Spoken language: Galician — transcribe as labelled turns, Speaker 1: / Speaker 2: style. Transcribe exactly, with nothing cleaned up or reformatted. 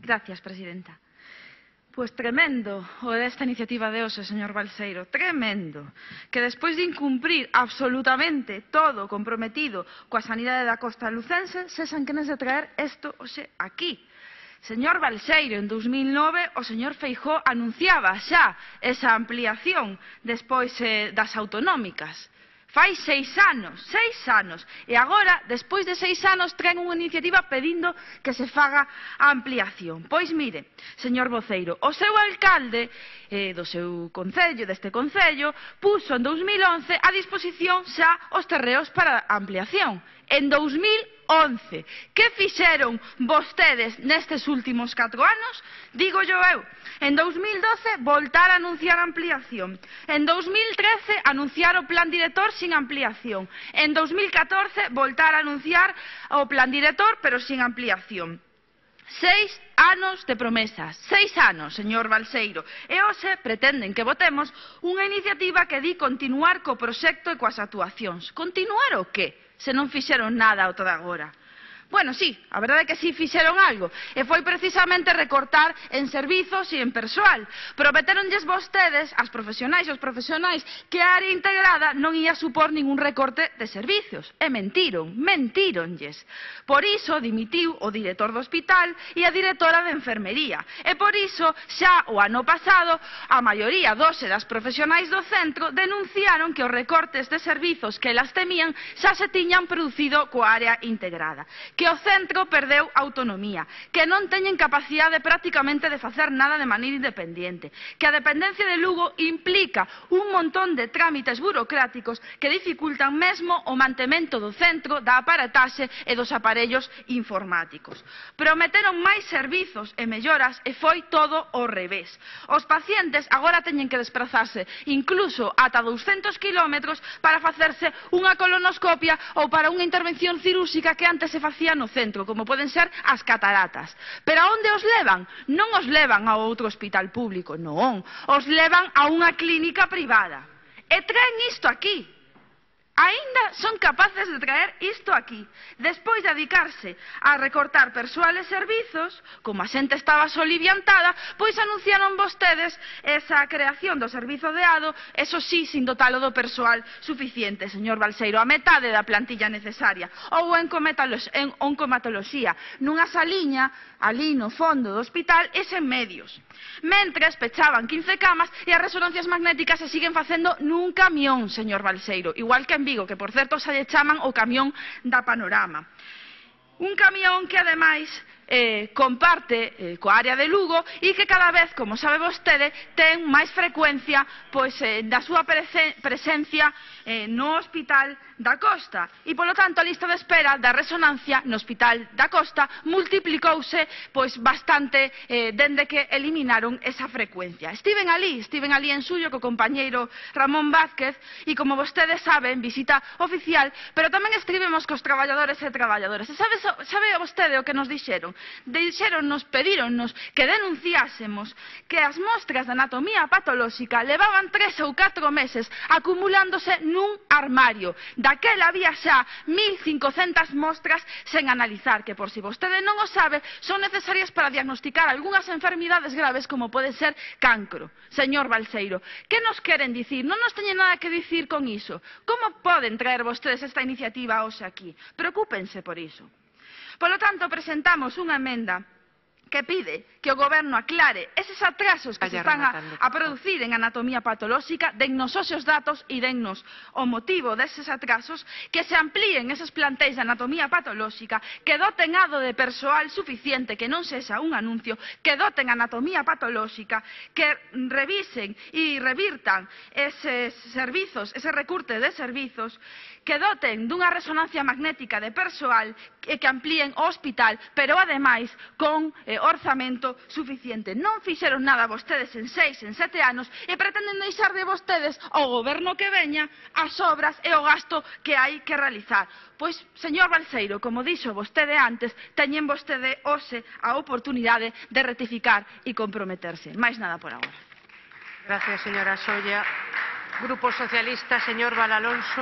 Speaker 1: Gracias, presidenta. Pois tremendo o desta iniciativa de hoxe, señor Balseiro, tremendo, que despois de incumprir absolutamente todo o comprometido coa sanidade da costa lucense, sexan quenes de traer isto hoxe aquí. Señor Balseiro, en dous mil nove o señor Feijóo anunciaba xa esa ampliación despois eh, das autonómicas. Fai seis anos, seis anos, e agora, despois de seis anos, traen unha iniciativa pedindo que se faga a ampliación. Pois mire, señor voceiro, o seu alcalde eh, do seu concello, deste concello, puso en dous mil once a disposición xa os terreos para a ampliación. En dous mil once. Que fixeron vostedes nestes últimos catro anos? Digo yo eu. En dous mil doce, voltar a anunciar a ampliación. En dous mil trece, anunciar o plan director sin ampliación. En dous mil catorce, voltar a anunciar o plan director, pero sin ampliación. Seis anos de promesas, seis anos, señor Balseiro, e hoxe pretenden que votemos unha iniciativa que di continuar co proxecto e coas actuacións. Continuar o que, se non fixeron nada ata agora? Bueno, sí, a verdade é que sí fixeron algo, e foi precisamente recortar en servizos e en persoal. Prometeronlles vostedes, as profesionais e os profesionais, que a área integrada non ia supor ningún recorte de servizos. E mentiron, mentíronlles. Por iso dimitiu o director do hospital e a directora de enfermería. E por iso, xa o ano pasado, a maioría dos e das profesionais do centro denunciaron que os recortes de servizos que elas temían xa se tiñan producido coa área integrada. Que o centro perdeu autonomía, que non teñen capacidade prácticamente de facer nada de maneira independente, que a dependencia de Lugo implica un montón de trámites burocráticos que dificultan mesmo o mantemento do centro, da aparataxe e dos aparellos informáticos. Prometeron máis servizos e melloras e foi todo ao revés. Os pacientes agora teñen que desplazarse incluso ata douscentos kilómetros para facerse unha colonoscopia ou para unha intervención cirúrxica que antes se facía no centro, como poden ser as cataratas. Pero a onde os levan? Non os levan a outro hospital público, non. Os levan a unha clínica privada. E traen isto aquí. Aínda son capaces de traer isto aquí. Despois de dedicarse a recortar persoal e servizos, como a xente estaba soliviantada, pois anunciaron vostedes esa creación do servizo de A D O, eso sí, sin dotalo do persoal suficiente, señor Balseiro, a metade da plantilla necesaria, ou en oncomatoloxía, nunha saliña ali no fondo do hospital e sen medios. Mentres pechaban quince camas e as resonancias magnéticas se siguen facendo nun camión, señor Balseiro, igual que en Vigo, que por certo xa lle chaman o camión da Panorama. Un camión que ademais eh, comparte eh, coa área de Lugo e que cada vez, como sabe vostede, ten máis frecuencia pois, eh, da súa presencia eh, no Hospital da Costa. E, polo tanto, a lista de espera da resonancia no Hospital da Costa multiplicouse pois, bastante eh, dende que eliminaron esa frecuencia. Estiven ali, estiven ali en Suyo co compañeiro Ramón Vázquez e, como vostedes saben, visita oficial, pero tamén estivemos cos traballadores e traballadoras. E sabe, sabe vostede o que nos dixeron? Dixéronnos, pedíronnos que denunciásemos que as mostras de anatomía patolóxica levaban tres ou catro meses acumulándose nun armario. Daquela había xa mil cincocentas mostras sen analizar, que por si vostede non o sabe, son necesarias para diagnosticar algunhas enfermidades graves como pode ser cancro. Señor Balseiro, que nos queren dicir? Non nos teñen nada que dicir con iso. Como poden traer vostedes esta iniciativa hoxe aquí? Preocúpense por iso. Polo tanto, presentamos unha emenda que pide que o Goberno aclare eses atrasos que se están a, a producir en anatomía patolóxica, dennos os seus datos e dennos o motivo deses atrasos, que se amplíen eses plantéis de anatomía patolóxica, que doten A D O de persoal suficiente, que non sexa un anuncio, que doten anatomía patolóxica, que revisen e revirtan eses servizos, ese recurte de servizos, que doten dunha resonancia magnética de persoal e que amplíen o hospital, pero ademais con eh, orzamento suficiente. Non fixeron nada vostedes en seis, en sete anos e pretenden deixar de vostedes ao goberno que veña as obras e o gasto que hai que realizar. Pois, señor Balseiro, como dixo vostede antes, teñen vostede hoxe a oportunidade de rectificar e comprometerse. Máis nada por agora.
Speaker 2: Gracias, señora Solla. Grupo Socialista, señor Valalonso.